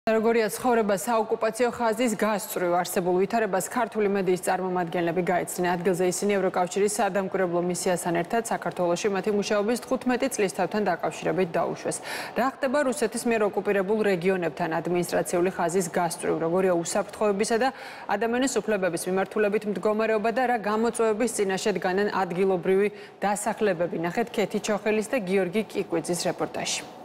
როგორია ცხოვრება საოკუპაციო ხაზის გასწვრივ არსებულ ვითარებას ქართული მედიის წარმომადგენლები გაეცნენ. ადგილზე ისინი ევროკავშირის სადამკვირვებლო მისიასთან ერთად საქართველოში მათი მუშაობის 15 წლისთავთან დაკავშირებით დაუშვეს. რა ხდება რუსეთის მიერ ოკუპირებულ რეგიონებთან ადმინისტრაციული ხაზის გასწვრივ, როგორია უსაფრთხოებისა და ადამიანის უფლებების მიმართულებით მდგომარეობა და რა გამოწვევების წინაშე დგანან ადგილობრივი დასახლებები. ნახეთ ქეთი ჩოხელის და გიორგი კიკვიძის რეპორტაჟი.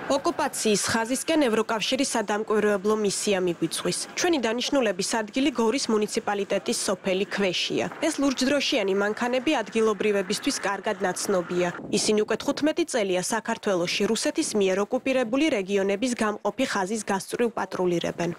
ოკუპაციის ხაზისკენ ევროკავშირის სადამკვირვებლო მისია მიგვიწვის. ჩვენი დანიშნულების ადგილი გორის მუნიციპალიტეტის სოფელი ქვეშია. ეს ლურჯდროშიანი მანქანები ადგილობრივებისთვის კარგად ნაცნობია. ისინი უკვე 15 წელია საქართველოში რუსეთის მიერ ოკუპირებული რეგიონების გამყოფი ხაზის გასწვრივ პატრულირებენ.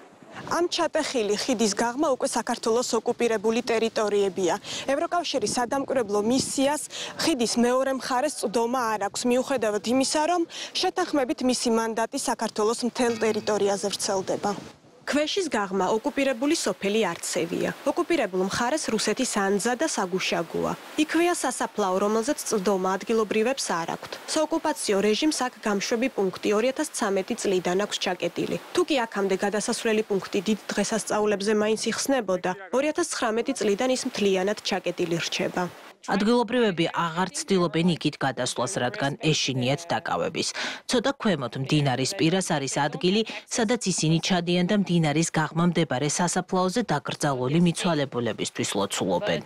ამ ჩატეხილი ხიდის გაღმა უკვე საქართველოს ოკუპირებული ტერიტორიებია. ევროკავშირის სადამკვირვებლო მისიას ხიდის მეორე მხარეს წვდომა არ აქვს, მიუხედავად იმისა, რომ შეთანხმებით მისი მანდატი საქართველოს მთელ ტერიტორიაზე ვრცელდება. ქვეშის გაღმა ოკუპირებული სოფელი არცევია. ოკუპირებულ მხარეს რუსეთის ანძა და საგუშაგოა. იქვეა სასაფლაო, რომელზეც წვდომა ადგილობრივებს არ აქვთ. საოკუპაციო რეჟიმს აქ გამშვები პუნქტი 2013 წლიდან აქვს ჩაკეტილი. თუ კი აქამდე გადასასვლელი პუნქტი დიდ დღესასწაულებზე მაინც იხსნებოდა, 2019 წლიდან ის მთლიანად ჩაკეტილი რჩება. ადგილობრივები აღარ ცდილობენ იქით გადასვლას, რადგან ეშინიათ დაკავების. ცოტა ქვემოთ მდინარის პირას არის ადგილი, სადაც ისინი ჩადიან და მდინარის გაღმა მდებარე სასაფლაოზე დაკრძალული მიცვალებულებისთვის ლოცულობენ.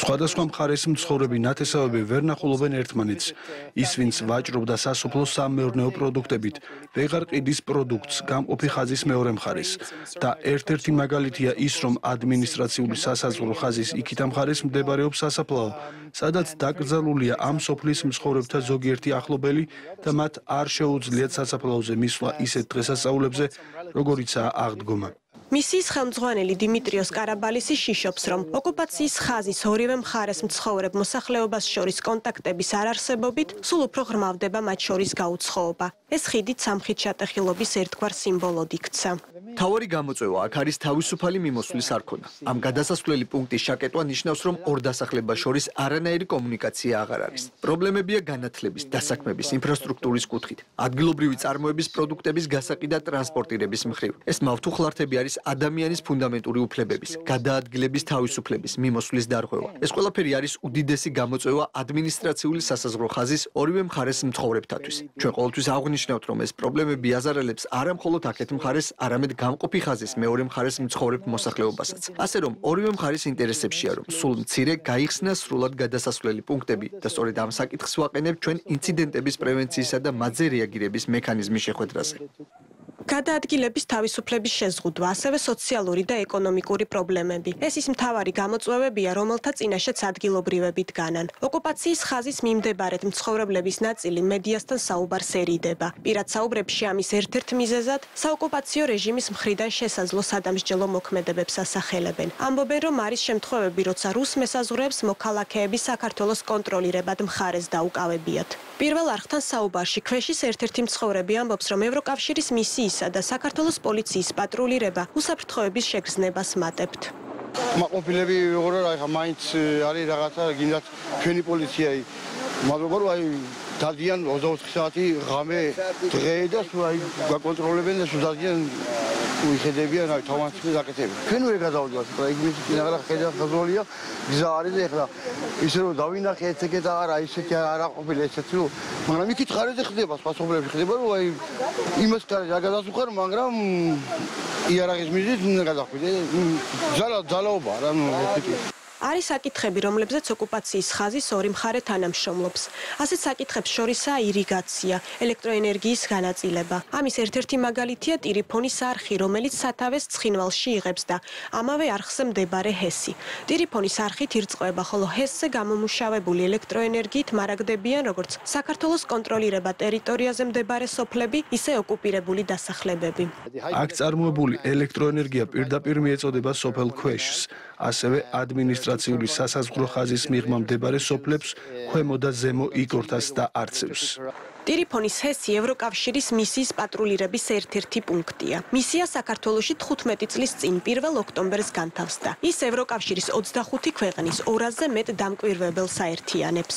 სხვადასხვა მხარეს მცხოვრები ნათესავები ვერ ნახულობენ ერთმანეთს. ის, ვინც ვაჭრობდა სასოფლო სამეურნეო პროდუქტებით, ვეღარ ყიდის პროდუქტს გამყოფი ხაზის მეორე მხარეს. და ერთ-ერთი მაგალითია ის, რომ ადმინისტრაციული სასაზღვრო ხაზის იქით მხარეს მდებარეობს სასაფლაო, სადაც დაკრძალულია ამ სოფლის მცხოვრებთა ზოგიერთი ახლობელი და მათ არ შეუძლიათ სასაფლაოზე მისვლა ისეთ დღესასწაულებზე, როგორიცაა აღდგომა. მისიის ხელმძღვანელი დიმიტრიოს კარაბალისი შიშობს, რომ ოკუპაციის ხაზის ორივე მხარეს მცხოვრებ მოსახლეობას შორის კონტაქტების არარსებობით სულ უფრო ღრმავდება მათ შორის გაუცხოობა. ეს ხიდი სამხით ჩატეხილობის ერთგვარ სიმბოლოდ იქცა. მთავარი გამოწვევა აქ არის თავისუფალი მიმოსვლის არ ქონა. ამ გადასასვლელი პუნქტის შაკეტვა ნიშნავს, რომ ორ დასახლებას შორის არანაირი კომუნიკაცია აღარ არის. პრობლემებია განათლების, დასაქმების, ინფრასტრუქტურის კუთხით, ადგილობრივი წარმოების პროდუქტების გასაყიდ და ტრანსპორტირების მხრივ. ეს მავთუხლართები არის ადამიანის ფუნდამენტური უფლებების, გადაადგილების თავისუფლების, მიმოსვლის დარღვევა. ეს ყველაფერი არის უდიდესი გამოწვევა ადმინისტრაციული სასაზღვრო ხაზის ორივე მხარეს მცხოვრებთათვის. ჩვენ ყოველთვის აღვნიშნავთ, რომ ეს პრობლემები აზარალებს არა მხოლოდ აქეთ მხარეს, არამედ გამყოფი ხაზის მეორე მხარეს მცხოვრებ მოსახლეობასაც. ასე რომ ორივე მხარის ინტერესებშია, რომ სულ მცირე გაიხსნას სრულად გადასასვლელი პუნქტები და სწორედ ამ საკითხს ვაყენებთ ჩვენ ინციდენტების პრევენციისა და მათზე რეაგირების მექანიზმის შეხვედრაზე. გადაადგილების თავისუფლების შეზღუდვა, ასევე სოციალური და ეკონომიკური პრობლემები. ეს ის მთავარი გამოწვევებია, რომელთა წინაშეც ადგილობრივები დგანან. ოკუპაციის ხაზის მიმდებარედ მცხოვრებლების ნაწილი მედიასთან საუბარს ერიდება. პირად საუბრებში ამის ერთ-ერთ მიზეზად საოკუპაციო რეჟიმის მხრიდან შესაძლო სადამსჯელო მოქმედებებს ასახელებენ. ამბობენ, რომ არის შემთხვევები, როცა რუს მესაზღვრეებს მოქალაქეები საქართველოს კონტროლირებად მხარეს დაუკავებიათ. პირველ არხთან საუბარში ქვეშის ერთ-ერთი მცხოვრები ამბობს, რომ ევროკავშირის მისიისა და საქართველოს პოლიციის პატრულირება უსაფრთხოების შეგრძნებას მატებთ. მაყოფილები როგორ რა მაინც არის რაღაცა გინდათ ჩვენი პოლიცია მაგრამ აი დადიან 24 საათი ღამე დღე და სულ აი გაკონტროლებენ და სულ დადიან უიხედებიან აი თავმოყრილი საკეთები. ჩვენ ვერ გადავდივართ, რა იგი მითხილაღა ხედა ხაზოლია გზა არის და ეხლა ისე რომ დავინახე ეცეკეთ არა ისეთი არ აყოფილი ესეთი რომ მაგრამ იქით ხარეზე ხდება სხვა სოფლებში ხდება რომ აი იმას კარგი არ გადასუხარ მაგრამ იარაღის მიზნით უნდა გადახვიდე ძალაობა რა ნუ ესეთი არის საკითხები, რომლებზეც ოკუპაციის ხაზის ორი მხარე თანამშრომლობს. ასეთ საკითხებს შორისაა ირიგაცია, ელექტროენერგიის განაწილება. ამის ერთ-ერთი მაგალითია ტირიფონის არხი, რომელიც სათავეს ცხინვალში იღებს და ამავე არხზე მდებარე ჰესი. ტირიფონის არხით ირწყვება, ხოლო ჰესზე გამომუშავებული ელექტროენერგიით მარაგდებიან როგორც საქართველოს კონტროლირება ტერიტორიაზე მდებარე სოფლები, ისე ოკუპირებული დასახლებები. აქ წარმოებული ელექტროენერგია პირდაპირ მიეწოდება სოფელ ქვეშს, ასევე ადმინისტრაციული სასაზღვრო ხაზის მიღმა მდებარე სოფლებს, ქვემო და ზემო იგორთას და არცევს. ტირიფონის ჰესი ევროკავშირის მისიის პატრულირების ერთ-ერთი პუნქტია. მისია საქართველოში 15 წლის წინ 1 ოქტომბერს განთავსდა. ის ევროკავშირის 25 ქვეყნის 200-ზე მეტ დამკვირვებელს აერთიანებს.